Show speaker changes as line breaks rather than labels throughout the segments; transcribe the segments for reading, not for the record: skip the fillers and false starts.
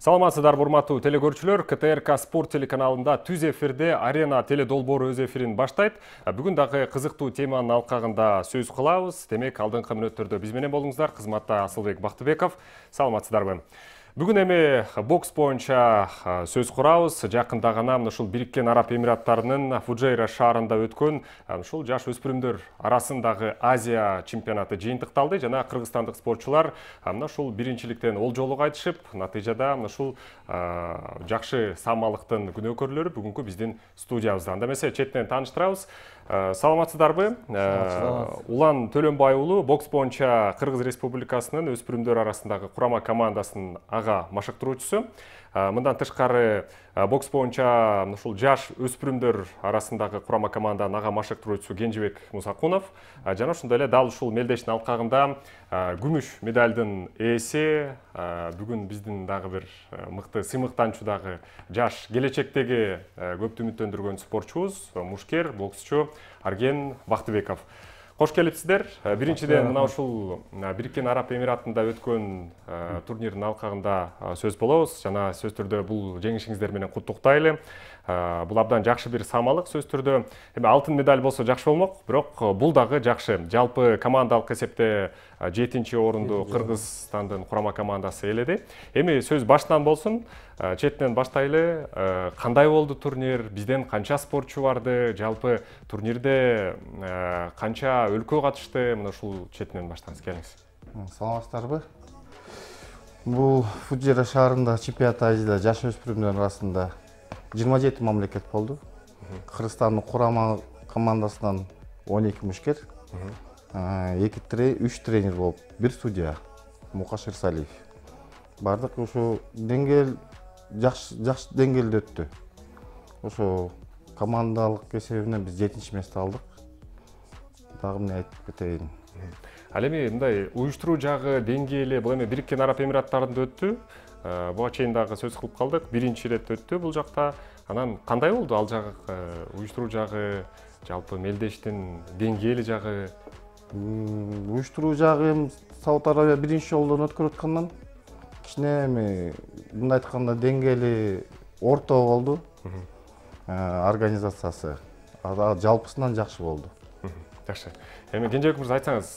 Саламатсыздар, урматтуу телекөрүүчүлөр. КТРК Спорт телеканалында түз эфирде Арена теле долбоору өз эфирин баштайт. Бүгүн дагы кызыктуу теманын алкагында сөз кылабыз. Демек, алдыңкы мүнөттөрдө биз менен болуңуздар. Кызматта Асылбек Бактыбеков. Саламатсыздарбы? Бүгүн эми бокс боюнча сөз курабыз. Жакында гана ушул Бириккен Араб Эмираттарынын Фуджейра шаарында өткөн ушул жаш өспүрүмдөр арасындагы Азия чемпионаты жыйынтыкталды жана кыргызстандык спортчулар ушул биринчиликтен олжолук айтышып, натыйжада ушул жакшы самалыктын күнөөкөрлөрү бүгүнкү биздин студиябызда. Анда эмесе четтен тааныштырабыз. Саламатсыздарбы? Улан Төлөнбай уулу бокс боюнча Кыргыз Республикасынын өспүрүмдөр арасындагы курама командасынын ага машыктыруучусу. Мындан тышкары бокс боюнча ушул жаш өспүрүмдөр арасындагы курама команданын ага машыктыруучусу Кенжебек Мусакунов жана ошондой эле дал ушул мелдештин алкагында күмүш медалдын ээси, бүгүн биздин дагы бир мыкты сыймыктанчу дагы жаш келечектеги көптү үмүттөндүргөн спортчубуз, мушкер, боксчу Арген Бактыбеков. Кош келипсиздер. Биринчиден мына ушул Бириккен Араб Эмиратында өткөн турнирдин алкагында сөз болобуз жана сөз түрдө бул жеңишиңиздер менен куттуктайлы. Бул абдан жакшы бир самалык сөз түрдө. Эми алтын медаль болсо жакшы болмок, бирок бул дагы жакшы. Жалпы командалык эсепте 7-чи орунду Кыргызстандын курама командасы ээледи. Эми сөз башынан болсун. Четтен баштайлы. Кандай болду турнир? Бизден канча спортчу барды? Жалпы турнирде канча өлкө катышты? Мына ушул четинен баштаңыз, келиңиз.
Саламатсыздарбы? Бул Фуджейра шаарында чемпионат Азияда жаш өспүрүмдөр арасында 27 мамлекет болду. Кыргызстандын курама командасынан 12 мушкер, 3 тренер болуп, 1 судья Мукаш Ирсалиев. Бардык ушу деңгээл жакшы деңгээлде өттү. Ошо командалык эсебинен биз 7-чи месте алдык. Дагы эмне айтып кетейин?
Ал эми мындай уюштуруу жагы деңгээли бул эми Бириккен Араб Эмираттарында өттү. Буга чейин дагы сөз кылып калдык. Биринчи ирет өттү бул жакта. Анан кандай болду ал жагы, уюштуруу жагы, жалпы мелдештин деңгээли жагы?
Уюштуруу жагы Сауд Арабия биринчи жолдон өткөрүп аткандан кичине эми мындай айтканда деңгээли орто болду. Организациясы жалпысынан жакшы болду.
Жакшы. Эми Кенжебек мырза, айтсаңыз,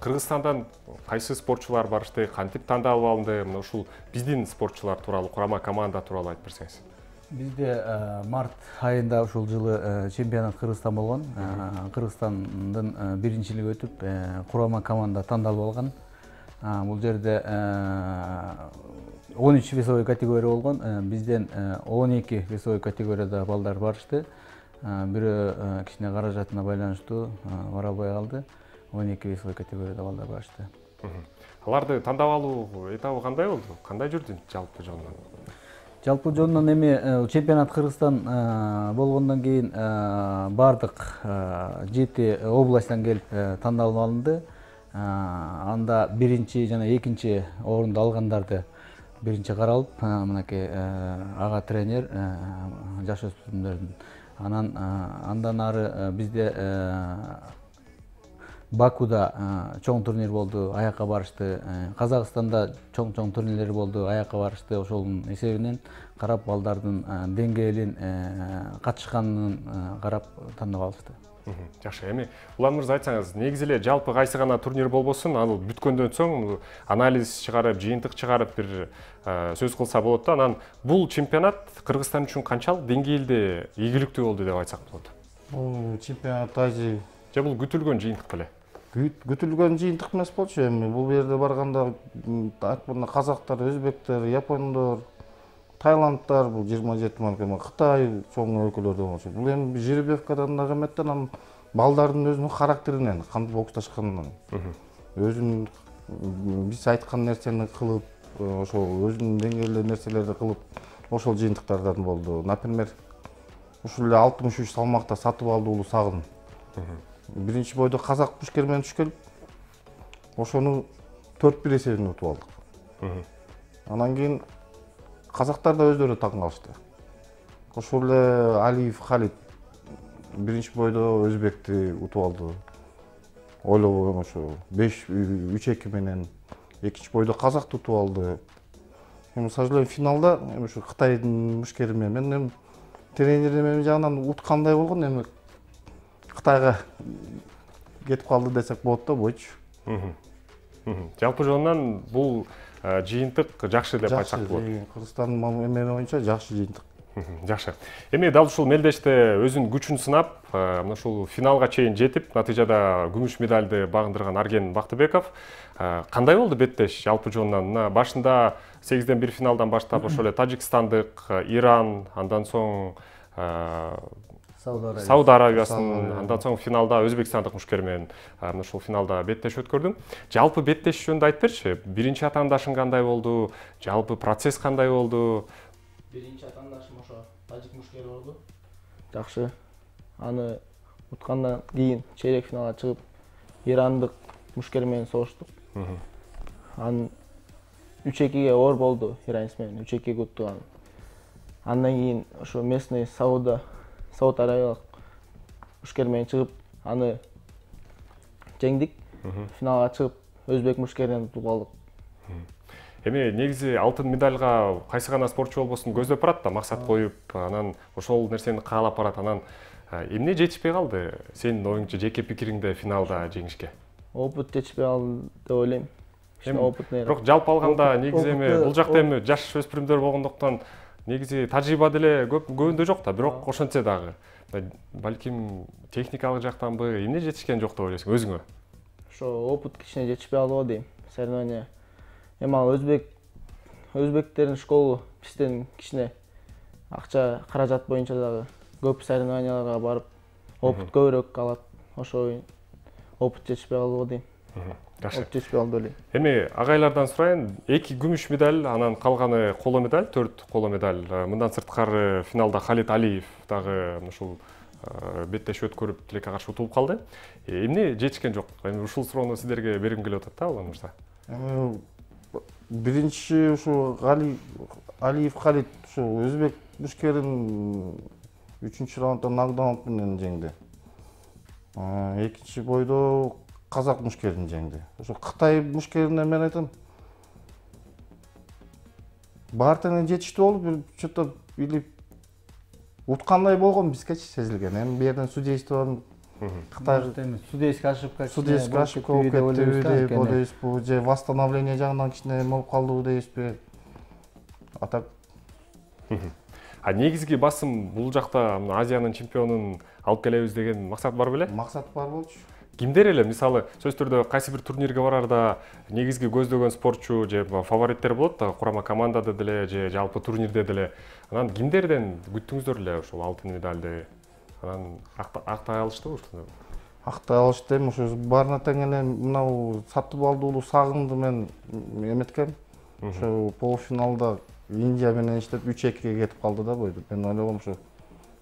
Кыргызстандан кайсы спортчулар барышты, кантип тандалып алынды? Мына ушул биздин спортчулар тууралуу, курама команда тууралуу айтып берсеңиз.
Бизде март айында ушул жылы чемпионат Кыргызстан болгон. Кыргызстандын биринчилиги өтүп, курама команда тандалып алган. Бул жерде 13 весовой категория болгон. Бизден 12 весовой категорияда балдар барышты. Бирөө кичине каражатына байланыштуу бара албай калды. 12 весовой категорияда балдар барышты.
Аларды тандап алуу этабы кандай болду? Кандай жүрдү жалпы жонунан?
Жалпы жонунан эми чемпионат Кыргызстан болгондон кийин бардык 7 областтан келип тандалып алынды. Анда биринчи жана экинчи орунду алгандарды биринчи каралып, мынакей ага тренер жаш өспүрүмдөрдүн. Андан ары бизде Бакуда чоң турнир болду, аякка барышты. Казакстанда чоң турнирлер болду, аякка барышты. Ошонун эсебинен карап, балдардын деңгээлин, катышканын карап тандап алышты.
Жакшы. Эми Улан мырза, айтсаңыз, негизи эле жалпы кайсы гана турнир болбосун, ал бүткөндөн соң анализ чыгарып, жыйынтык чыгарып бир сөз кылса болот да. Анан бул чемпионат Кыргызстан үчүн канчалык деңгээлде ийгиликтүү болду деп айтсак болот?
Бул чемпионат Азия
же бул күтүлгөн жыйынтык беле?
Күтүлгөн жыйынтык эмес болчу. Эми бул жерде барганда казактар, өзбектер, япондор, тайландтар, бул 27 мамлекет, Кытай чоң өлкөлөрдөн болчу. Бул эми жеребьевкадан дагы эметтен, анан балдардын өзүнүн характеринен, кантип боксташканынан, өзүнүн биз айткан нерсени кылып, ошол өзүнүн деңгээлде нерселерди кылып, ошол жыйынтыктардан болду. Например, ушул эле 63 салмакта сатып алды уулу Сагын. Биринчи бойдо казак мушкер менен түшкөн, ошону 4-1 эсебинен утуп алдык. Анан кийин казактар да өздөрү таң калышты. Ошол эле Алиев Халид биринчи бойдо өзбекти утуп алды. Ойлобогон ошо 5-3-2 менен. Экинчи бойдо казакты утуп алды. эми к сожалению финалда эми ушу Кытайдын мушкери менен эми тренерим эми жагынан уткандай болгон, эми Кытайга кетип калды десек болот да бойчу.
Жалпы жонунан бул жыйынтык жакшы деп айтсак болот.
Кыргызстандын эмени боюнча жакшы жыйынтык.
Жакшы. Эми дал ушул мелдеште өзүнүн күчүн сынап, мына ушул финалга чейин жетип, натыйжада күмүш медалды багындырган Арген Бактыбеков кандай болду беттеш жалпы жонунан? Мына башында 8-1 финалдан баштап ошол эле Тажикстандык, Иран, андан соң Сауд Арабиясын, андан соң финалда Өзбекстандык мушкер менен мына ушул финалда беттеш өткөрдүң. Жалпы беттеш жөнүндө айтып берчи. Биринчи атаандашың кандай болду? Жалпы процесс кандай болду?
Биринчи атаандашым ошо тажик мушкери болду. Жакшы. Аны уткандан кийин чейрек финалга чыгып, ирандык мушкер менен согуштук. Анын 3-2ге оор болду, иранец менен 3-2 уттук. Андан кийин ошо местный Сауд Арабиялык мушкер менен чыгып, аны жеңдик. Финалга чыгып, өзбек мушкеринен утуп калдык.
Эми негизи алтын медальга кайсы гана спортчу болбосун көздөп барат да, максат коюп, анан ошол нерсени каалап барат. Анан эмне жетишпей калды сенин оюңча, жеке пикириңде финалда жеңишке?
Опыт жетишпей калды деп ойлойм.
Бирок жалпы алганда негизи эми бул жакта эми жаш өспүрүмдөр болгондуктан негизи тажрыйба деле көбүндө жок да, бирок ошентсе дагы балким техникалык жактанбы эмне жетишкен жок деп ойлойсуң өзүңө?
Ошо опыт кичине жетишпей калды дейм. Соревнования эми ал өзбектердин школу бизден кичине акча каражат боюнча дагы көп соревнованияларга барып опыт көбүрөөк алат. Ошо опыт жетишпей калды дейм.
Жакшы.
Опыт жетишпей калды эле.
Эми агайлардан сурайын, 2 күмүш медаль, анан калганы коло медаль, 4 коло медаль. Мындан сырткары финалда Халид Алиев дагы ушул беттеш өткөрүп тилекке каршы утулуп калды. Эмне жетишкен жок? Эми ушул суроону сиздерге бергим келип атат да, Улан мырза.
Эми биринчи ушу Алиев Халид ушу өзбек мушкерин 3-чү раундда нокдаун менен жеңди. Экинчи бойдо казак мушкерин жеңди. Ошо Кытай мушкерине мен айтам, баары тең жетиштүү болду, бир что-то или уткандай болгон бизгечи сезилген. Эми бу жерден судействонун Кытай
судейский ошибка
болуп кетти деп ойлойбузбу, же восстановление жагынан кичине болуп калдыбы дейбизби? Атак.
Негизги басым бул жакта Азиянын чемпионун алып келебиз деген максат бар беле?
Максат бар болчу.
Кимдер эле, мисалы, сөзсүз түрдө кайсы бир турнирге барарда негизги көздөгөн спортчу же фавориттер болот да, курама командада деле же жалпы турнирде деле. Анан кимдерден күттүңүздөр эле ушул алтын медалды? Анан актай алыштыбы ушуну?
Актай алышты, эми ошо баарына тең эле мынау Сатыбалды уулу Сагынды мен эметкем. Ошо полуфиналда Индия менен иштеп 3-2ге кетип калды да бойду. Мен ойлогом ошо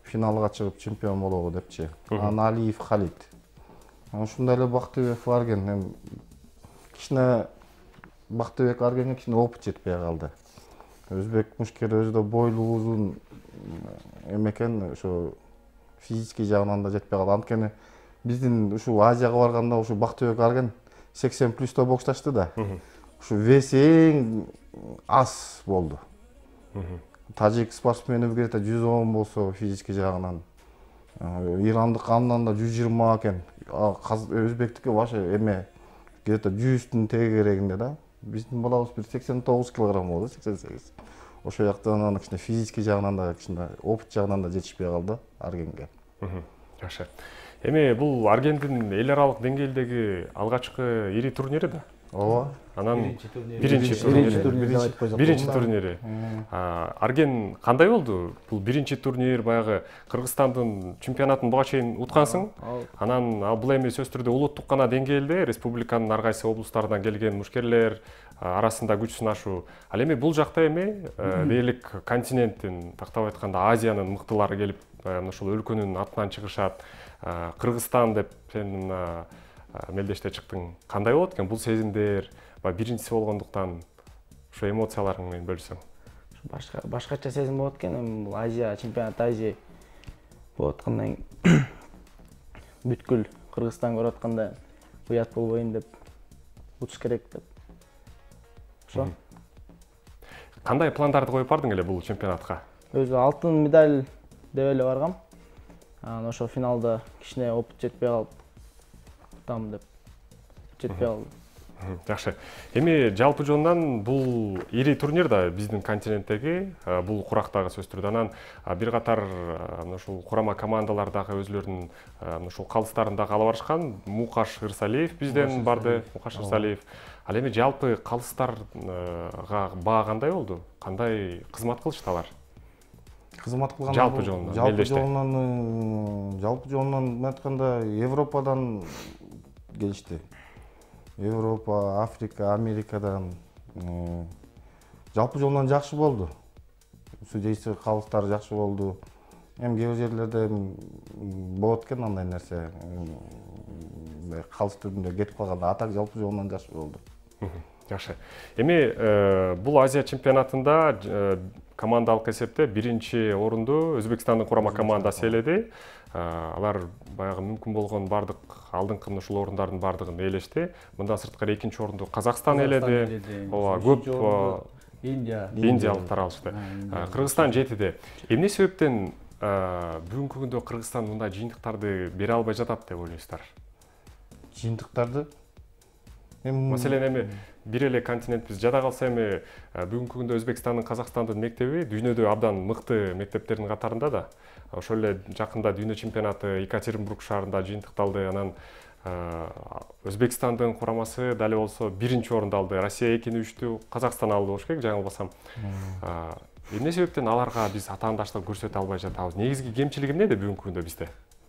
финалга чыгып чемпион болобу депчи. Анан Алиев Халид. Ушундай эле Бактыбеков Арген, эми кичине Бактыбек Аргенге кичине опыт жетпей калды. Өзбек мушкери өзү да бойлуу узун эмекен, ошо физический жагынан да жетпей калды. Анткени биздин ушул Азияга барганда ушу Бактыбек Арген 80+ боксташты да. Ушу веси эң аз болду. Тажик спортсмени где-то 110 болсо физический жагынан, ирандык андан да 120 экен. Өзбектики вообще эме где-то 100-тун тегерегинде да. Биздин балабыз бир 89 килограмм болду, 88. Ошо жактан кичине физический жагынан да, кичине опыт жагынан да жетишпей калды Аргенге.
Жакшы. Эми бул Аргендин эл аралык деңгээлдеги алгачкы ири турнири да.
Ооба.
Анан
биринчи
турнири. Арген кандай болду? Бул биринчи турнир, баягы Кыргызстандын чемпионатын буга чейин уткансың. Анан бул эми сөзсүз түрдө улуттук гана деңгээлде республиканын ар кайсы облустарынан келген мушкерлер арасында күч сынашуу. Ал эми бул жакта эми дээрлик континенттин, тактап айтканда Азиянын мыктылары келип, ушул өлкөнүн атынан чыгышат. Кыргызстан деп сен мелдеште чыктың. Кандай болот экен бул сезимдер? Биринчиси болгондуктан ушу эмоцияларың менен бөлүсөң.
Башкача сезим болот экен, эми бул Азия чемпионат Азия болуп аткандан бүткүл Кыргызстан көрүп атканда уят болбойм деп, утуш керек деп. Ошо.
Кандай пландарды коюп бардың эле бул чемпионатка?
Өзү алтын медаль деп эле баргам. Анан ошо финалда кичине опыт жетпей калып, кутам деп жетпей калды.
Жакшы. Эми жалпы жонунан бул ири турнир да биздин континенттеги, бул курактагы сөз түрдө. Анан бир катар ушул курама командалар дагы өзлөрүнүн ушул калыстарын дагы ала барышкан. Мукаш Ырсалиев бизден барды, Мукаш Ырсалиев. Ал эми жалпы калыстарга баа кандай болду? Кандай кызмат кылышты алар?
Кызмат кылган
Жалпы жолунан,
жалпы жолунан айтканда Европадан келишти. Европа, Африка, Америкадан жалпы жолунан жакшы болду. Судейси калыстары жакшы болду. Эми кээ бир жерлерде болот экен андай нерсе. Калыс түрүндө кетип калганда, а так жалпы жолунан жакшы болду.
Жакшы. Эми бул Азия чемпионатында командалык эсепте биринчи орунду Өзбекстандын курама командасы ээледи. Алар баягы мүмкүн болгон бардык алдыңкы ушул орундардын бардыгын ээлешти. Мындан сырткары экинчи орунду Казакстан ээледи. Ооба, көп Индиялыктар алышты. Кыргызстан жетиде. Эмне себептен бүгүнкү күндө Кыргызстан мындай жыйынтыктарды бере албай жатат деп ойлойсуздар?
Жыйынтыктарды?
Маселен эми бир эле континентибиз жада калса эми бүгүнкү күндө Өзбекстандын, Казакстандын мектеби дүйнөдө абдан мыкты мектептердин катарында да. Ошол эле жакында дүйнө чемпионаты Екатеринбург шаарында жыйынтыкталды. Анан Өзбекстандын курамасы дали болсо биринчи орунду алды. Россия 2-3-тү, Казакстан алды болуш керек, жаңылбасам. Эмне себептен аларга биз атаандаштык көрсөтө албай жатабыз? Негизги кемчилиги эмнеде бүгүнкү күндө бизде?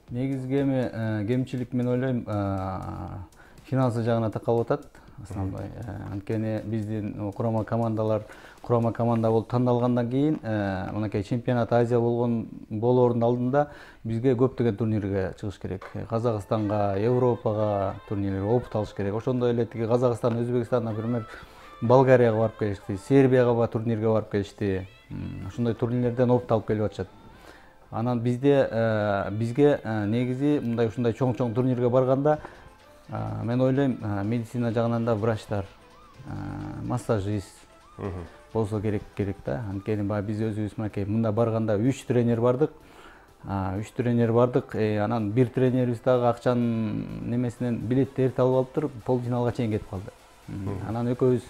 Негизги эми кемчилик мен ойлойм финансы жагына такалып атат. Основной. Анткени биздин курама команда болуп тандалгандан кийин мынакей чемпионат Азия болоордун алдында бизге көптөгөн турнирге чыгыш керек. Казакстанга, Европага турнирлерге опыт алыш керек. Ошондой эле тиги Казакстан, Өзбекстан, например, Болгарияга барып келишти, Сербияга турнирге барып келишти. Ошондой турнирлерден опыт алып келип атышат. Анан бизге негизи мындай ушундай чоң турнирге барганда мен ойлойм медицина жагынан да врачтар, массажист болсо керек да. Анткени биз өзүбүз мынакей мында барганда 3 тренер бардык. Анан бир тренерибиз дагы акчанын немесинен билетти эрте алып алыптыр, полуфиналга чейин кетип калды. Анан экөөбүз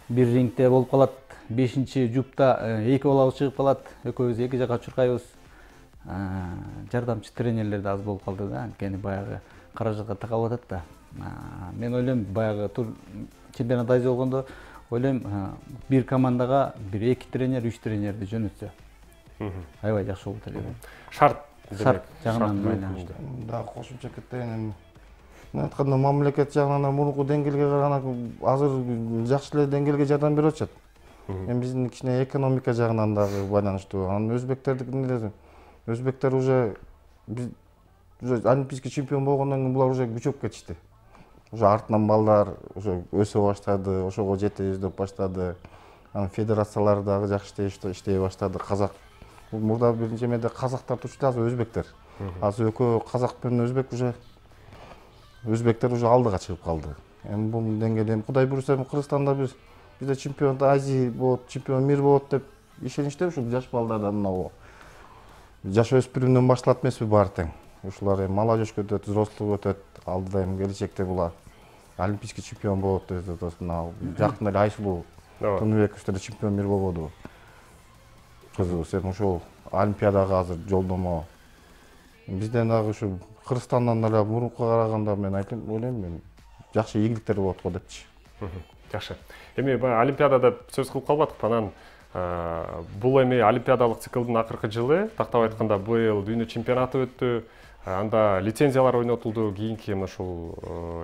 бир рингде болуп калат, 5-жупта 2 болобуз чыгып калат, экөөбүз эки жака чуркайбыз. Жардамчы тренерлер да аз болуп калды да, анткени баягы каражатка такалып атат да. Мен ойлойм баягы чемпионат Азия болгондо ойлойм бир командага 1-2 тренер, 3 тренерди жөнөтсө аябай жакшы болот эле.
Шарт
жагынан байланыштуу.
Да, кошумча кетейин. Мен айтканда мамлекет жагынан мурунку деңгээлге караганда азыр жакшы эле деңгээлге жардам берип атышат. Эми биздин кичине экономика жагынан дагы байланыштуу. Анан өзбектер уже олимпийский чемпион болгондон кийин булар уже күчөп кетишти. Уже артынан балдар уже өсө баштады, ошого жете издеп баштады. Анан федерациялар дагы жакшы иштей баштады. Казак мурда биринчи эмеде казактар турчу, азыр өзбектер. Азыр экөө казак менен өзбектер уже алдыга чыгып калды. Эми бул деңгээлде Кудай буйруса Кыргызстанда бизде чемпион Азия болот, чемпион мир болот деп ишеничте ушул жаш балдардан мына жаш өспүрүмдөн башталат эмеспи баары тең. Ушулар эми молодежьке өтөт, взрослый өтөт, алдыда эми келечекте булар олимпийский чемпион болот деп атат. Мына жакында эле Айсулуу Тунбекович чемпион мир болбоду. Кызыбыз эми ошол олимпиадага азыр жолдомо. Бизден дагы ушу Кыргызстандан эле мурункуга караганда мен ойлойм жакшы ийгиликтер болот го депчи.
Жакшы. Эми баягы олимпиадада сөз кылып калбадык. Анан бул эми олимпиадалык циклдын акыркы жылы, тактап айтканда быйыл дүйнө чемпионаты өттү. Анда лицензиялар ойнотулду. Кийинки ушул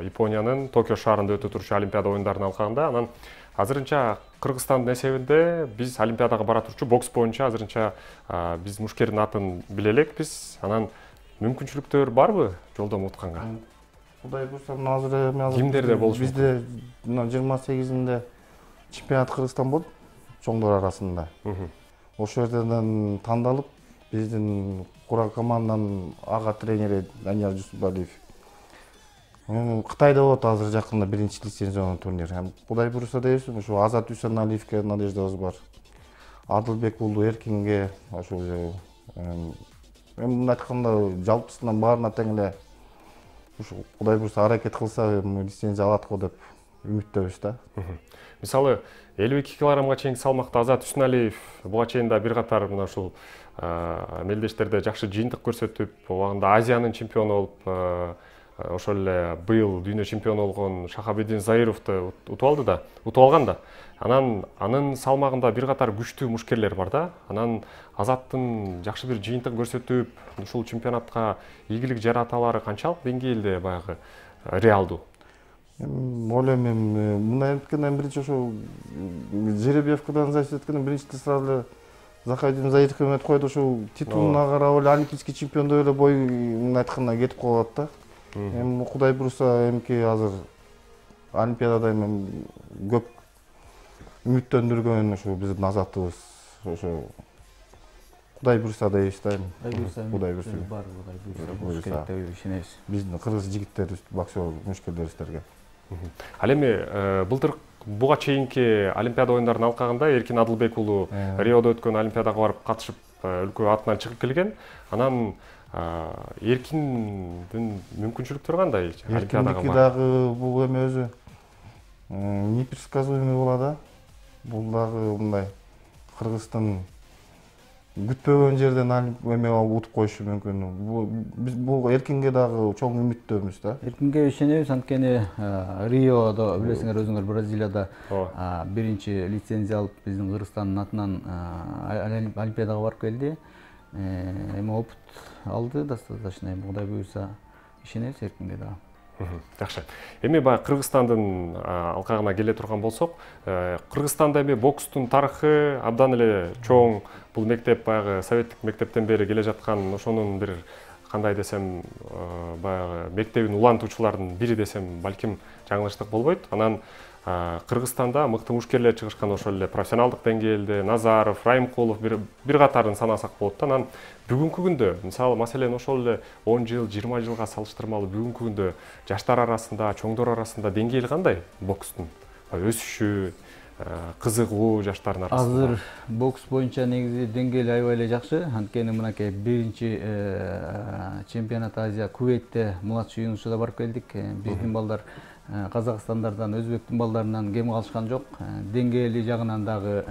Япониянын Токио шаарында өтө турчу олимпиада оюндарынын алкагында. Анан азырынча Кыргызстандын эсебинде биз олимпиадага бара турчу бокс боюнча азырынча биз мушкердин атын биле элекпиз. Анан мүмкүнчүлүктөр барбы жолдомо утканга?
Кудай буйруса азыр
кимдерде болушу?
Бизде 28-inde чемпионат Кыргызстан болду, чоңдор арасында. Ошол жерден тандалып, биздин курам команданын ага тренери Данияр Жусупалиев. Кытайда болот азыр жакында биринчи лицензиялуу турнир. Кудай буйруса дейбиз, ушу Азат Үсеналиевке надеждабыз бар. Адылбек уулу Эркинге ошол эми мындай айтканда жалпысынан баарына тең эле ушу Кудай буйруса аракет кылса лицензия алат го деп үмүттөбүз да.
Мисалы 52 килограммга чейинки салмакта Азат Үсналиев буга чейин да бир катар мына ушул мелдештерде жакшы жыйынтык көрсөтүп, убагында Азиянын чемпиону болуп, ошол эле быйыл дүйнө чемпиону болгон Шахабиддин Заировду утуп алган да. Анын салмагында бир катар күчтүү мушкерлер бар да. Анан Азаттын жакшы бир жыйынтык көрсөтүп, ушул чемпионатка ийгилик жараталары канчалык деңгээлде баягы реалдуу?
Ойлойм мындай эткенден биринчи ошо жеребьевкадан зависит эткенден биринчи сразу эле Захайдин Заировго эметип койду, ошол титулуна карап эле олимпийский чемпион деп эле бой мындай айтканда кетип калат да. Эми Кудай буйруса эмки азыр Олимпиадада эми көп үмүттөндүргөн ошо биздин Азатыбыз ошо Кудай буйруса дейбиз да эми. Кудай буйруса деп ишенебиз. Биздин кыргыз жигиттерибиз, боксер мушкерлерибизге.
Ал эми былтыр буга чейинки Олимпиада оюндарынын алкагында Эркин Адылбек уулу Риодо өткөн Олимпиадага барып катышып өлкө атынан чыгып келген. Анан Эркиндин мүмкүнчүлүктөрү кандай?
Олимпиадага дагы бул эме өзү непредсказуемый болот да. Бул дагы мындай Кыргыздын күтпөгөн жерден эме утуп коюшу мүмкүн. Бул Эркинге дагы чоң үмүттөбүз да.
Эркинге ишенебиз, анткени Риодо билесиңер өзүңөр Бразилияда биринчи лицензия алып биздин Кыргызстандын атынан Олимпиадага барып келди. Эми опыт алды достаточно. Кудай буйруса ишенебиз Эркинге дагы.
Жакшы. Эми баягы Кыргызстандын алкагына келе турган болсок, Кыргызстанда эми бокстун тарыхы абдан эле чоң. Бул мектеп баягы советтик мектептен бери келе жаткан, ошонун бир кандай десем, баягы мектебин улантуучулардын бири десем, балким жаңылыштык болбойт. Анан Кыргызстанда мыкты мушкерлер чыгышкан, ошол эле профессионалдык деңгээлде Назаров, Райымкулов бир катарын санасак болот да. Анан бүгүнкү күндө, мисалы маселен ошол эле 10 жыл, 20 жылга салыштырмалуу бүгүнкү күндө жаштар арасында, чоңдор арасында деңгээли кандай бокстун? Өсүшү, кызыгуу жаштардын арасында.
Азыр бокс боюнча негизи деңгээли аябай эле жакшы. Анткени мынакей биринчи чемпионат Азия Кувейтте младший юношада барып келдик. Биздин балдар Казакстандардан, өзбектин балдарынан кем калышкан жок. Деңгээли жагынан дагы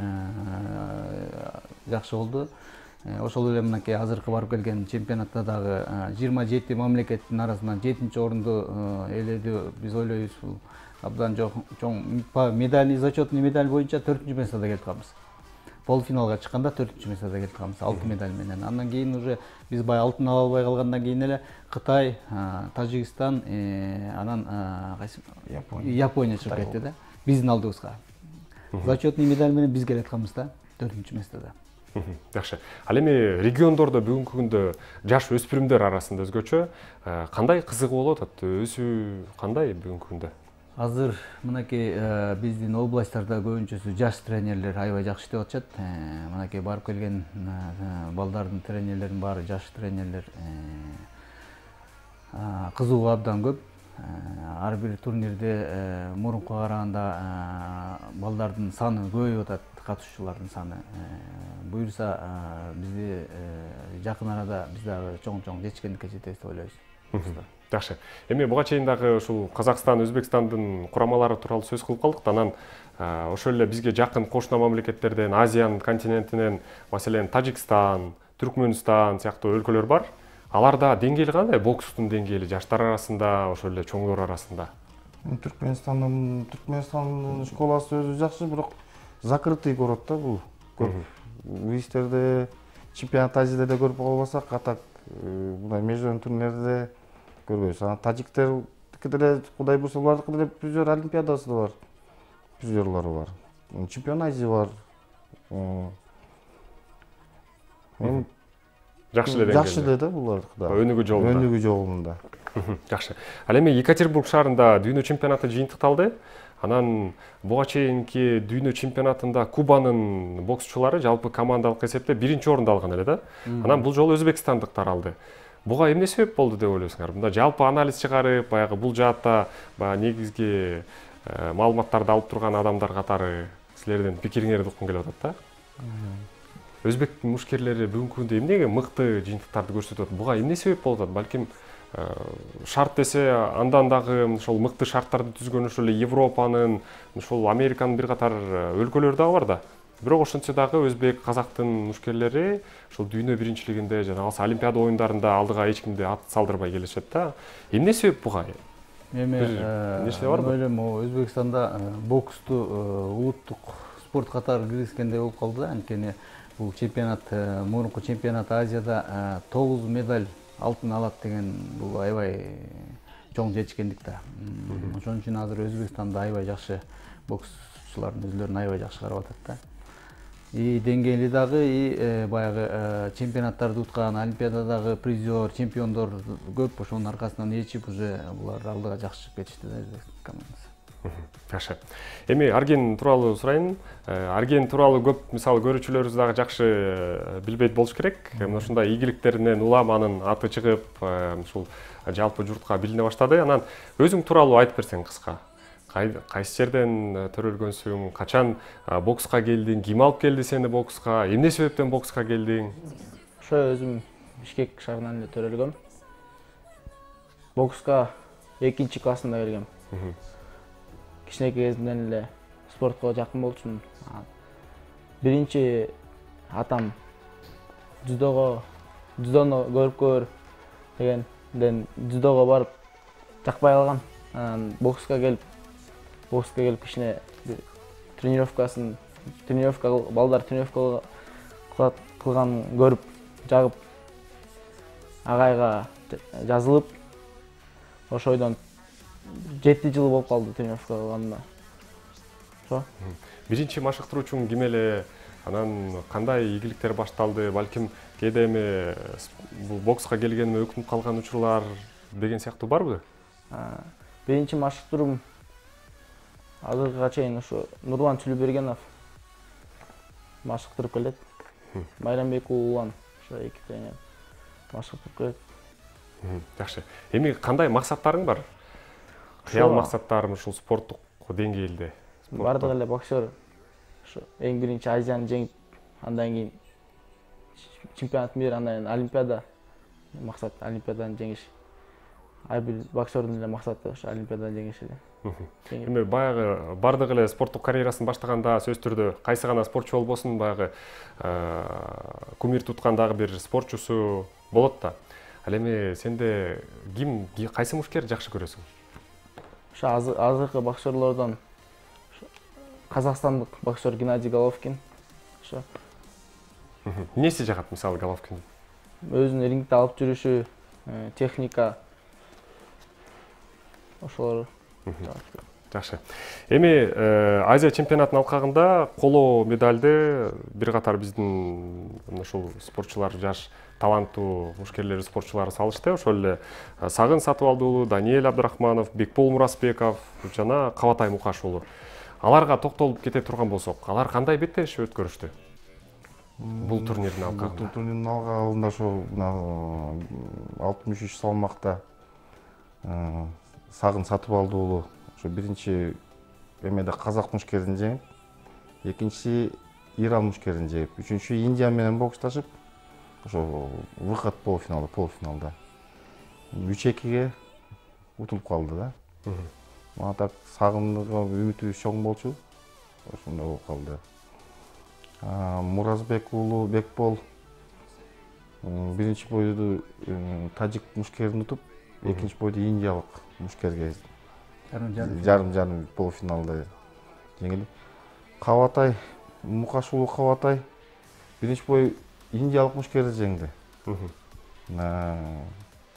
жакшы болду. Ошол эле мынакей азыркы барып келген чемпионатта дагы 27 мамлекеттин арасынан 7-орунду ээледи. Биз ойлойбуз, бул абдан чоң медаль, зачетный медаль боюнча 4-местордо келип калабыз. Полуфиналга чыкканда 4-местордо келип калабыз, 6 медаль менен. Андан кийин уже биз бай алтын ала албай калгандан кийин эле Кытай, Тажикстан, анан Япония чыгып кетти да. Биздин алдыбызга. Зачетный медаль менен биз келатканбыз да, 4-местордо.
Жакшы. Ал эми региондордо бүгүнкү күндө жаш өспүрүмдөр арасында өзгөчө кандай кызыгуу болуп атат? Өсүү кандай бүгүнкү күндө?
Азыр мынакей биздин областтарда көбүнчөсү жаш тренерлер аябай жакшы иштеп атышат. Мынакей барып келген балдардын тренерлердин баары жаш тренерлер. Кызыгуу абдан көп. Ар бир турнирде мурункуга караганда балдардын саны көбөйүп атат, катышуучулардын саны. Буюрса бизди жакын арада биз дагы чоң жетишкендикке жетебиз деп ойлойбуз.
Жакшы. Эми буга чейин дагы ушул Казакстан, Өзбекстандын курамалары тууралуу сөз кылып калдык. Анан ошол эле бизге жакын кошуна мамлекеттерден, Азиянын континентинен, маселен Тажикстан, Түркмөнстан сыяктуу өлкөлөр бар. Аларда деңгээли кандай? Бокстун деңгээли жаштар арасында, ошол эле чоңдор арасында.
Түркмөнстандын школасы өзү жакшы, бирок закрытый город да бул. Көп визтерде, чемпионат Азияда да көрүп калбасак, атак мындай международный турнирлерде көрбөйбүз. Анан тажиктердики деле Кудай буйруса булардыкы деле призер олимпиадасы да бар. Призерлары бар. Чемпион Азия бар.
Жакшы эле
жакшы эле да булардыкы да.
Өнүгүү жолунда.
Өнүгүү жолунда.
Жакшы. Ал эми Екатеринбург шаарында дүйнө чемпионаты жыйынтыкталды. Анан буга чейинки дүйнө чемпионатында Кубанын боксчулары жалпы командалык эсепте 1-орунду алган эле да. Анан бул жолу өзбекстандыктар алды. Буга эмне себеп болду деп ойлойсуңар? Мында жалпы анализ чыгарып, баягы бул жаатта негизги маалыматтарды алып турган адамдар катары силердин пикириңерди уккум келип атат да. Өзбек мушкерлери бүгүнкү күндө эмнеге мыкты жыйынтыктарды көрсөтөт? Буга эмне себеп болуп атат? Балким шарт десе андан дагы ошол мыкты шарттарды түзгөн ошол эле Европанын, ошол Американын бир катар өлкөлөрү дагы бар да. Бирок ошентсе дагы өзбек, казактын мушкерлери ошол дүйнө биринчилигинде жана Олимпиада оюндарында алдыга эч кимди ат салдырбай келишет да. Эмне себеп буга?
Эми
нерсе барбы?
ойлойм, Өзбекстанда боксту улуттук спорт катары киргизгендей болуп калды да. Анткени бул чемпионат, мурунку чемпионат Азияда 9 медаль алтын алат деген бул аябай чоң жетишкендик да. Ошон үчүн азыр Өзбекстанда аябай жакшы боксчулардын өзлөрүн аябай жакшы карап атат да. И деңгээли дагы, и баягы чемпионаттарды уткан, Олимпиададагы призер, чемпиондор көп. Ошонун аркасынан ээрчип уже булар алдыга жакшы чыгып кетишти да Өзбек командасы.
Жакшы. Эми Арген тууралуу сурайын. Арген тууралуу көп мисалы көрүүчүлөрүбүз дагы жакшы билбейт болуш керек. Мына ушундай ийгиликтеринен улам анын аты чыгып, ушул жалпы журтка билине баштады. Анан өзүң тууралуу айтып берсең кыска. Кайсы жерден төрөлгөнсүң, качан бокска келдиң, ким алып келди сени бокска, эмне себептен бокска келдиң?
Ошо өзүм Бишкек шаарынан эле төрөлгөм. Бокска 2-классында келгем. Кичинекей кезимден эле спортко жакын болчумун. Биринчи атам дзюдону көрүп көр дегенден дзюдого барып жакпай калгам. Анан бокска келип кичине балдар тренировка кылган көрүп жагып агайга жазылып, ошойдон 7 жыл болуп калды тренировка кылганына. Ошо.
Биринчи машыктыруучуң ким эле? Анан кандай ийгиликтер башталды? Балким кээде эми бул бокска келгениме өкүнүп калган учурлар деген сыяктуу барбы?
Биринчи машыктыруум азыркыга чейин ушу Нурлан Чүлүбергенов машыктырып келет. Майрамбек уулан ошо эки тренер машыктырып келет.
Жакшы. Эми кандай максаттарың бар? Кыял максаттарым ушул спорттук деңгээлде?
Бардык эле боксер ошо эң биринчи Азияны жеңип, андан кийин чемпионат мира, андан кийин Олимпиада. Максат Олимпиаданы жеңиш. Ар бир боксердун эле максаты ошо Олимпиаданы жеңиш эле.
Эми баягы бардык эле спорттук карьерасын баштаганда сөзсүз түрдө кайсы гана спортчу болбосун баягы кумир туткан дагы бир спортчусу болот да. Ал эми сенде кайсы мушкер жакшы көрөсүң?
Ошо азыркы боксерлордон казакстандык боксер Геннадий Головкин. Ошо.
Эмнеси жагат мисалы Головкин?
Өзүн рингде алып жүрүшү, техника. Ошолор.
Жакшы. Эми Азия чемпионатынын алкагында коло медальды бир катар биздин ушул спортчулар, жаш таланттуу мушкерлер спортчулары салышты. Ошол эле Сагын Сатыбалды уулу, Даниэль Абдрахманов, Бекбол Муразбеков жана Кабатай Мукаш уулу. Аларга токтолуп кете турган болсок, алар кандай беттешип өткөрүштү? Бул турнирдин алкагында.
Бул турнирдин алкагында ошо 63 салмакта Сагын Сатыбалды уулу ошо биринчи эмеде казак мушкерин жеңип, экинчиси Иран мушкерин жеңип, үчүнчү Индия менен боксташып, ошо выход полуфиналда 3-2 утулуп калды да. Мага так Сагынга үмүтүбүз чоң болчу. Ошондой болуп калды. Муразбек уулу Бекбол биринчи бойду тажик мушкерин утуп, экинчи бойду индиялык мушкерге жарым полуфиналда жеңилип, Кабатай Мукаш уулу Кабатай биринчи бой индиялык мушкерди жеңди.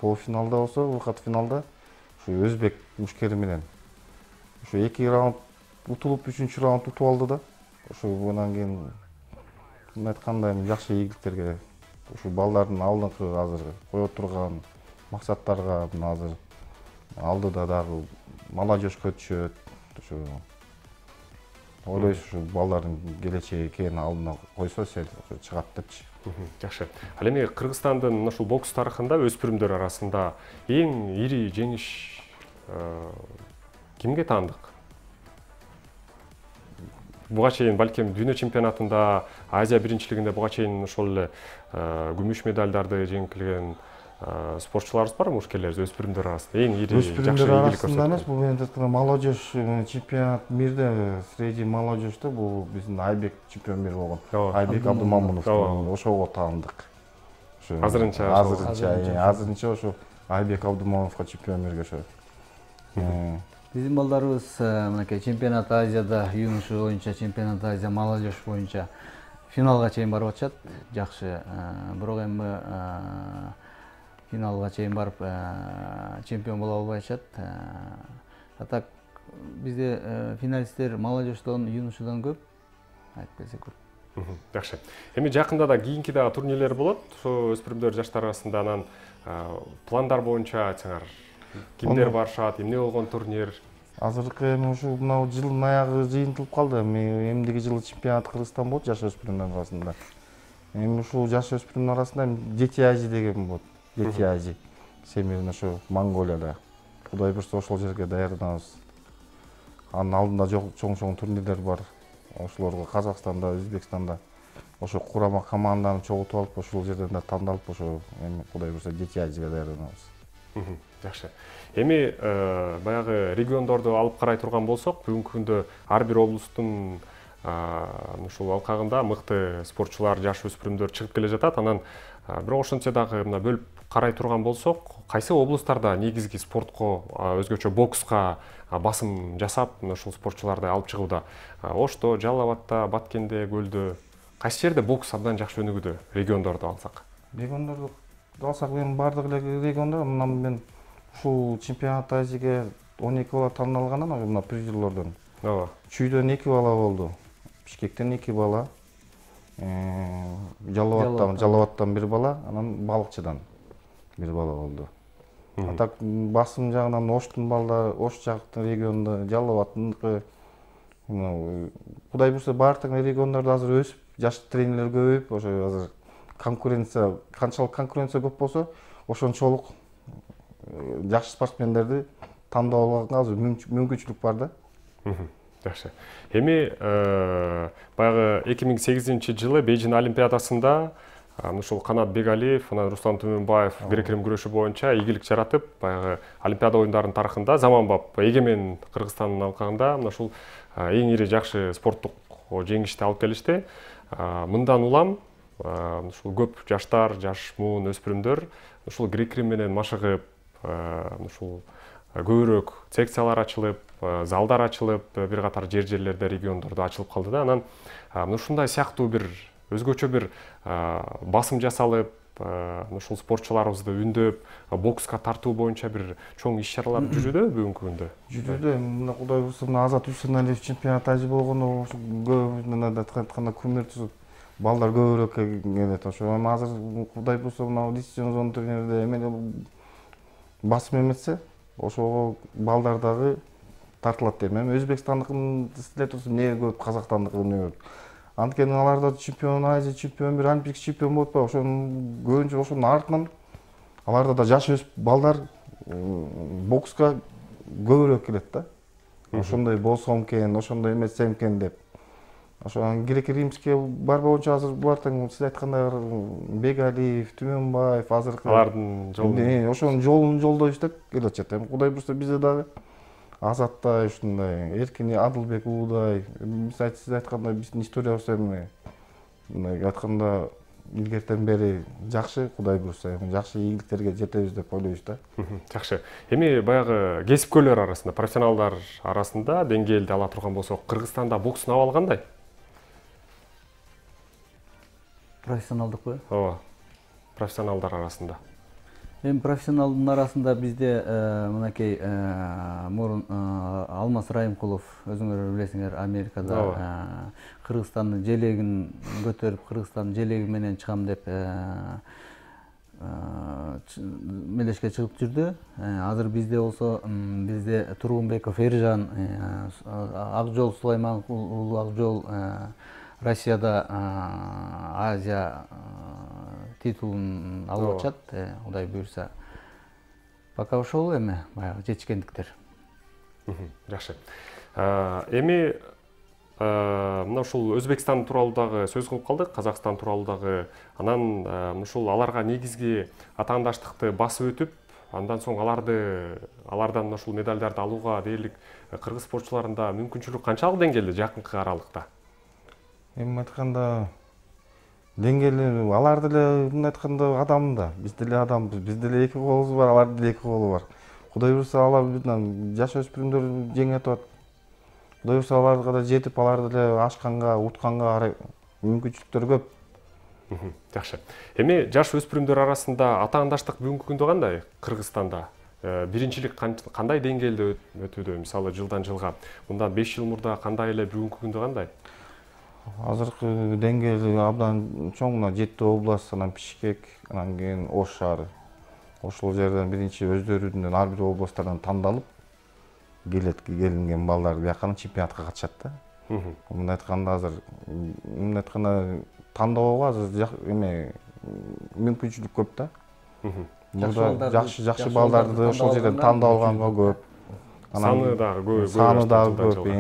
Полуфиналда болсо, выход финалда ушу өзбек мушкери менен ушу 2 раунд утулуп, 3-чү раунд утуп алды да. Ушу андан кийин айткандай жакшы ийгиликтерге ушу балдардын алдыңкы азыр кое турган максаттарга азыр алдыда дагы молодежько түшөт. Ушу ойлойсуз ушу балдардын келечеги экен, алдына койсо сел чыгат депчи.
Жакшы. Ал эми Кыргызстандын ушул бокс тарыхында өспүрүмдөр арасында эң ири жеңиш кимге таандык? буга чейин балким дүйнө чемпионатында, Азия биринчилигинде буга чейин ошол эле күмүш медалдарды жеңилген спортчуларыбыз бар, мушкерлер, өспүрүмдөр арасында эң ири жакшы
өспүрүмдөр
ийгилик
арасында эмес,
көрсөткөн.
бул эми айтканда молодежь чемпионат мирде среди молодежьте бул биздин Айбек чемпион мир болгон. Айбек Абдумамунов ошого таандык. Азырынча ошо Айбек Абдумамуновго чемпион мирге ошо.
Биздин балдарыбыз мынакей чемпионат Азияда юноша боюнча, чемпионат Азия молодежь боюнча финалга чейин барып атышат. Жакшы, бирок эми финалга чейин барып чемпион боло албай атышат. А так бизде финалисттер молодежьдон, юношадан көп, айтып келсек көп.
Жакшы. Эми жакында да кийинки дагы турнирлер болот. Ошо өспүрүмдөр жаштар арасында анан пландар боюнча айтсаңар, кимдер барышат, эмне болгон турнир?
Азыркы эми ушул мына жылдын аягы жыйынтылып калды. Эмдиги жылы чемпионат Кыргызстан болот жаш өспүрүмдөр арасында. Эми ушул жаш өспүрүмдөр арасында Дети Азии деген болот. Дети Азии. Семирин ошо Монголияда. Кудай буйрса ошол жерге даярданабыз. Анын алдында чоң турнирлер бар. Ошолорго Казакстанда, Өзбекстанда ошо курама команданы чогултуп алып, ошол жерден да тандалып, ошо эми Кудай буйрса Дети Азияга даярданабыз.
Жакшы. Эми баягы региондорду алып карай турган болсок, бүгүнкү күндө ар бир облустун ушул алкагында мыкты спортчулар, жаш өспүрүмдөр чыгып келе жатат. Анан бирок ошентсе дагы мына бөлүп карай турган болсок, кайсы облустарда негизги спортко, өзгөчө бокска басым жасап, ушул спортчуларды алып чыгууда? Ошто, Жалал Абадта, Баткенде, Көлдө кайсы жерде бокс абдан жакшы өнүгүүдө, региондорду алсак?
Региондорду алсак, эми бардык эле региондор, мына мен ушул чемпионат Азияга 12 бала тандалгандан, мына призерлордон.
Ооба.
Чүйдөн 2 бала болду. Бишкектен 2 бала. Жалал Абадтан 1 бала, анан Балыкчыдан 1 бала болду. А так басым жагынан Оштун балдары, Ош жактын регионунда, Жалал Абадтыкы, Кудай буйрса баардык региондордо азыр өсүп, жаш тренерлер көбөйүп, ошо азыр канчалык конкуренция көп болсо, ошончолук жакшы спортсмендерди тандап алганга азыр мүмкүнчүлүк бар да.
Жакшы. Эми баягы 2008-жылы Бейжин олимпиадасында ушул Канат Бегалиев, анан Руслан Түмөнбаев грек-рим күрөшү боюнча ийгилик жаратып, баягы олимпиада оюндарынын тарыхында заманбап эгемен Кыргызстандын алкагында мына ушул эң ири жакшы спорттук жеңишти алып келишти. Мындан улам ушул көп жаштар, жаш муун өспүрүмдөр ушул грек-рим менен машыгып, ушул көбүрөөк секциялар ачылып, залдар ачылып, бир катар жерлерде, региондордо ачылып калды да. Анан ушундай сыяктуу бир өзгөчө бир басым жасалып, ушул спортчуларыбызды үндөп, бокска тартуу боюнча бир чоң иш-чаралар жүрүүдө бүгүнкү күндө.
Жүрүүдө, мына Кудай буйрса Азат Үсеналиев чемпионат Азия болгондо ошо көп мына айтканда көмүр түзүп, балдар көбүрөөк келет. Ошо эми азыр Кудай буйрса мына лицензион зон турнирде эмеле басым эметсе, ошого балдар дагы тартылат дейм. Эми Өзбекстандыкын истеле турса, эмне көп Казакстандыкы эмне көп. Анткени аларда чемпион Азия, чемпион бир олимпик чемпион болуп атпайбы, ошонун көбүнчө ошонун артынан аларда да жаш өсүп балдар бокска көбүрөөк келет да. Ошондой болсом экен, ошондой эмесем экен деп. Ошо греко-римский бар боюнча азыр булар тең сиз айткандай Бегалиев, Түмөнбаев азыркы
Алардын жолун
ошонун жолун жолдой иштеп келе атышат. Эми Кудай буйрса бизде дагы Азаттай, ушундай Эркин Адылбек уудай, сиз айткандай биздин историябыз эми мындай айтканда илгертен бери жакшы, Кудай буйрса эми жакшы ийгиликтерге жетебиз деп ойлойбуз да.
Жакшы. Эми баягы кесипкөйлөр арасында, профессионалдар арасында деңгээлди ала турган болсок, Кыргызстанда бокстун абалы кандай?
Профессионалдыкпы?
Ооба. Профессионалдар арасында.
Эми профессионалдын арасында бизде мынакей мурун Алмаз Райымкулов, өзүңөр билесиңер, Америкада Кыргызстандын желегин көтөрүп, Кыргызстандын желеги менен чыгам деп мелешке чыгып жүрдү. Азыр бизде болсо, бизде Тургунбеков Эржан, Акжол Сулайман уулу Акжол Россияда Азия титулун алып атышат, Кудай буйрса. Пока ошол эми баягы жетишкендиктер.
Жакшы. Эми мына ушул Өзбекстан тууралуу дагы сөз кылып калдык, Казакстан тууралуу дагы. Анан ушул аларга негизги атаандаштыкты басып өтүп, андан соң алардан ушул медалдарды алууга дээрлик кыргыз спортчуларында мүмкүнчүлүк канчалык деңгээлде жакынкы аралыкта?
Эми айтканда деңгээли алар деле мындай айтканда адам да. Биз деле адамбыз. Биз деле эки колубуз бар, алар деле эки колу бар. Кудай буюрса алар жаш өспүрүмдөр жеңе атат. Кудай буюрса аларга да жетип, алар деле ашканга, утканга мүмкүнчүлүктөр көп.
Жакшы. Эми жаш өспүрүмдөр арасында атаандаштык бүгүнкү күндө кандай Кыргызстанда? Биринчилик кандай деңгээлде өтүүдө? Мисалы жылдан жылга. Мындан 5 жыл мурда кандай эле, бүгүнкү күндө кандай?
Азыркы деңгээли абдан чоң, мына Жети область, анан Бишкек, анан кийин Ош шаары. Ошол жерден биринчи өздөрүнүн ар бир областтардан тандалып келинген балдар биякка чемпионатка катышат да. Мындай айтканда азыр тандоого азыр мүмкүнчүлүк көп да. Мурда жакшы балдарды ошол жерден тандап алганга көп.
Саны дагы
көп.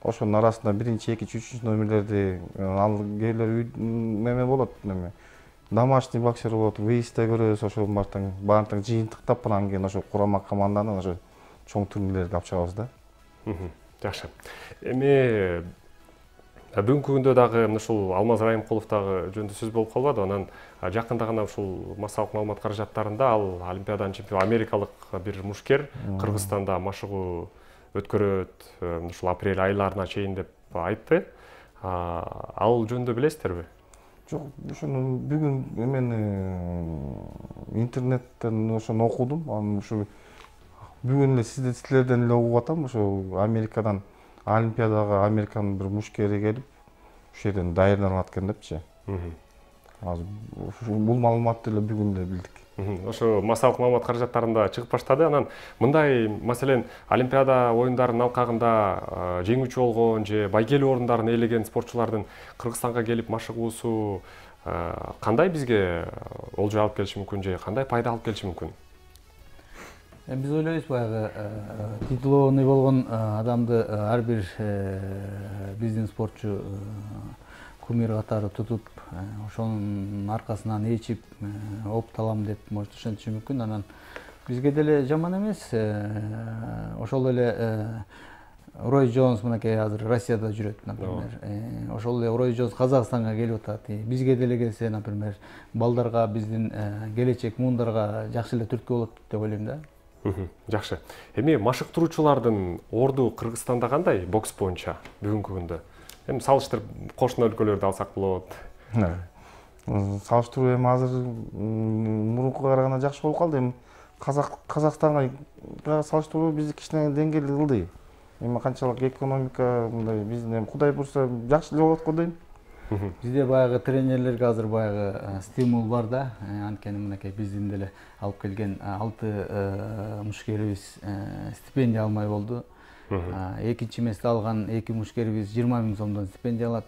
Ошонун арасында биринчи, экинчи, үчүнчү номерлерди ал кээрлер неме болот, домашний боксер болот, выездде көрөбүз, ошол баардыгын жыйынтыктап анан кийин ошо курама команданы ошо чоң турнирлерге алып чыгабыз да.
Жакшы. Эми бүгүнкү күндө дагы ушул Алмаз Райымкулов дагы жөнүндө сөз болуп калбады. Анан жакында гана ушул массалык маалымат каражаттарында ал Олимпиаданын чемпиону америкалык бир мушкер Кыргызстанда машыгуу өткөрөт, ушул апрель айларына чейин деп айтты. Ал жөнүндө билесиздерби?
Жок, ошону бүгүн интернеттен ошону окудум. Анан ушу бүгүн эле силерден эле угуп атам. Ошо Америкадан Олимпиадага Американын бир мушкери келип, ушул жерден даярданалат экен депчи. Азыр бул маалыматты эле бүгүн эле билдик.
Ошо массалык маалымат каражаттарында чыгып баштады. Анан мындай, маселен, Олимпиада оюндарынын алкагында жеңүүчү болгон же байгелүү орундарын ээлеген спортчулардын Кыргызстанга келип машыгуусу кандай бизге олжо алып келиши мүмкүн же кандай пайда алып келиши мүмкүн?
Биз ойлойбуз, баягы титулованный болгон адамды ар бир биздин спортчу кумир катары тутуп, ошонун аркасынан ээрчип опталам деп может ишениши мүмкүн. Анан бизге деле жаман эмес. Ошол эле Рой Джонс мынакей азыр Россияда жүрөт, например. Ошол эле Рой Джонс Казакстанга келип атат. Бизге деле келсе, например, балдарга, биздин келечек муундарга жакшы эле түрткү болот деп ойлойм да.
Жакшы. Эми машыктыруучулардын орду Кыргызстанда кандай бокс боюнча бүгүнкү күндө? Эми салыштырып кошуна өлкөлөрдү алсак болот.
Салыштыруу эми азыр мурункуга караганда жакшы болуп калды. Эми Казакстанга салыштыруу бизди кичине деңгээлде кылды. Эми канчалык экономика мындай биздин Кудай буюрса жакшы эле болот го дейм.
Бизде баягы тренерлерге азыр баягы стимул бар да. Анткени мынакей биздин деле алып келген 6 мушкерибиз стипендия алмай болду. Экинчи месте алган 2 мушкерибиз 20 000 сомдон стипендия алат,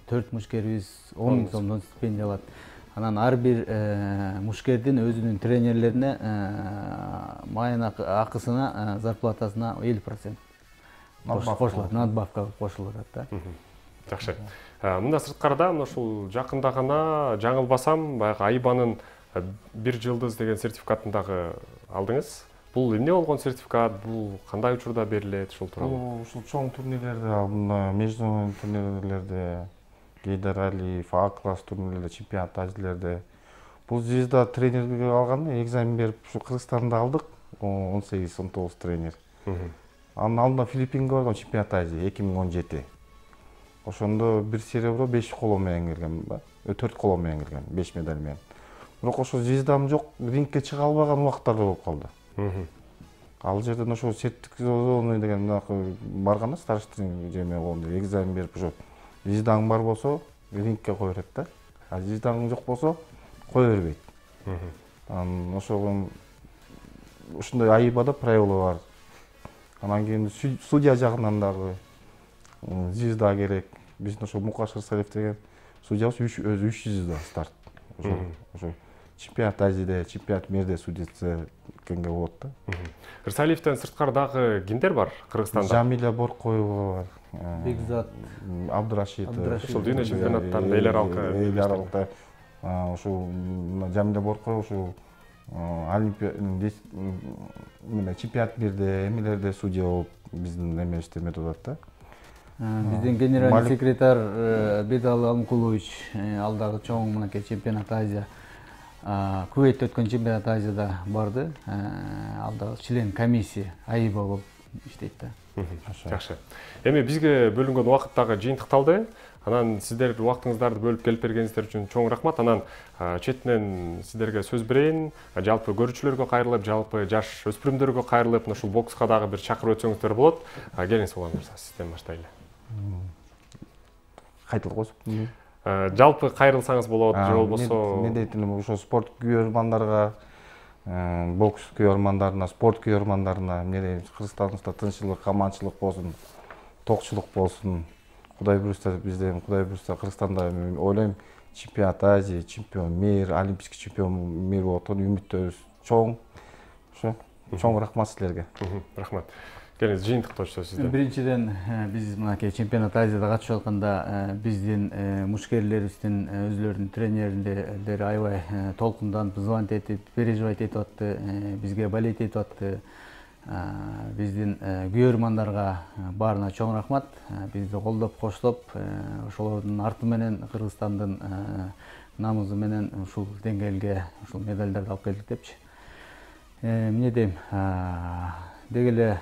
4 мушкерибиз 10 000 сомдон стипендия алат. Анан ар бир мушкердин өзүнүн тренерлерине майын акысына, зарплатасына 50% кошулат, надбавка кошулуп атат да.
Жакшы. Мында сырткарда ушул жакында гана жаңылбасам, баягы Айбанын 1 жылдыз деген сертификатын дагы алдыңыз. Бул эмне болгон сертификат? Бул кандай учурда берилет, ушул тууралуу?
Ушул чоң турнирлерде, международный турнирлерде, Гейдар Алиев, А-класс турнирлерде, чемпионат Азиялерде. Бул звезда тренерге алган, экзамен берип, ушу Кыргызстанда алдык, 18-19 тренер. Анын алдында Филиппинге барган, чемпионат Азия 2017. Ошондо 1 серебро, 5 коло менен келген, 4 коло менен келген, 5 медаль менен. Бирок ошо звездам жок, рингке чыга албаган убактарда болуп калды. Ал жерден ошо сертификат деген барганда старший жеме болгондо экзамен берип ошо звездаң бар болсо рингке кое берет да. А звездаң жок болсо кое бербейт. Анан ошол ушундай айыбада правила бар. Анан кийин судья жагынан дагы звезда керек. Биздин ошо Мукаш Рысалиев деген судьябыз өзү 3 звезда старт. Ошо чемпионат Азияда, чемпионат мирде судьясы кимге болот да.
Ырсалиевден сырткары дагы кимдер бар Кыргызстанда?
Жамиля Боркоева бар.
Бекзат
Абдурашитов.
Ушул дүйнө чемпионаттарында эл аралык
ушул Жамиля Боркоева ушул чемпионат мирде, эмелерде судья болуп биздин эмебизде эметип атат да.
Биздин генеральный секретарь Бедал Алмукулович ал дагы чоң мынакей чемпионат Азия, Кувейтте өткөн чемпионат Азияда барды. Ал дагы член комиссия АИБа болуп иштейт да.
Жакшы. Эми бизге бөлүнгөн убакыт дагы жыйынтыкталды. Анан сиздер убактыңыздарды бөлүп келип бергениңиздер үчүн чоң рахмат. Анан четинен сиздерге сөз берейин. Жалпы көрүүчүлөргө кайрылып, жалпы жаш өспүрүмдөргө кайрылып, ушул бокска дагы бир чакырып өтсөңүздөр болот. Келиңиз улан мырза, сизден баштайлы.
Кайтылып койсуң.
Жалпы кайрылсаңыз болот, же болбосо
мен дейт элем ошо спорт күйөрмандарга, бокс күйөрмандарына, спорт күйөрмандарына, эмне Кыргызстаныбызда тынччылык, аманчылык болсун, токчулук болсун. Кудай буюрса бизден, Кудай буюрса Кыргызстанда ойлойм чемпионат Азия, чемпион мир, олимпийский чемпион мир болот деген үмүттөрүбүз чоң. Ошо чоң рахмат силерге.
Рахмат. Келиңиз жыйынтыктоочу сизден.
Биринчиден биз мынакей чемпионат Азияда катышып атканда биздин мушкерлерибиздин өзүлөрүнүн тренерлери аябай толкунданып, звонить этип, переживать этип атты, бизге болеть этип атты. Биздин күйөрмандарга баарына чоң рахмат. Бизди колдоп, коштоп, ошолордун арты менен Кыргызстандын намызы менен ушул деңгээлге ушул медалдарды алып келдик депчи. Эмне дейм, деги эле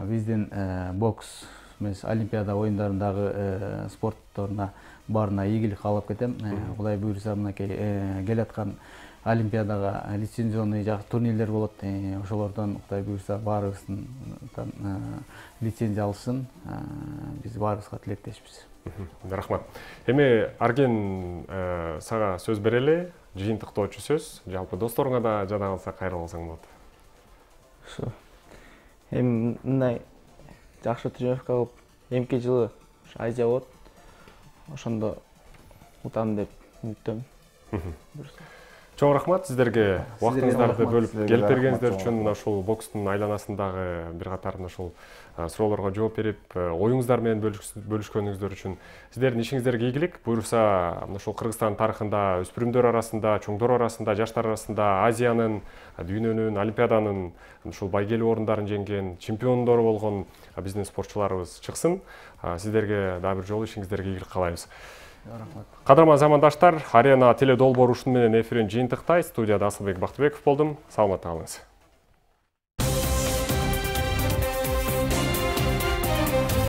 биздин бокс эмес Олимпиада оюндарындагы спортторуна баарына ийгилик каалап кетем. Кудай буюрса мынакей келаткан Олимпиадага лицензионный турнирлер болот. Ошолордон Кудай буюрса баарыбыздын лицензия алышсын. Биз баарыбызга тилектешпиз.
Рахмат. Эми Арген сага сөз берели, жыйынтыктоочу сөз. Жалпы досторуңа да жада калса кайрылып алсаң болот.
Ошо. Эми мындай жакшы тренировка кылып, эмки жылы Азия болот. Ошондо утам деп үмүттөмүн.
Чоң рахмат сиздерге убактыңыздарды бөлүп келип бергениңиздер үчүн. Мына ушул бокстун айланасындагы бир катар ушул суроолорго жооп берип, оюңуздар менен бөлүшкөнүңүздөр үчүн сиздердин ишиңиздерге ийгилик. Буюрса, ушул Кыргызстан тарыхында өспүрүмдөр арасында, чоңдор арасында, жаштар арасында Азиянын, дүйнөнүн, Олимпиаданын ушул байгелүү орундарын жеңген, чемпиондору болгон биздин спортчуларыбыз чыксын. Сиздерге дагы бир жолу ишиңиздерге ийгилик каалайбыз. Кадырман замандаштар, Арена теледолбоор ушуну менен эфирин жыйынтыктайт. Студияда Асылбек Бактыбеков болдум. Саламатта калыңыз.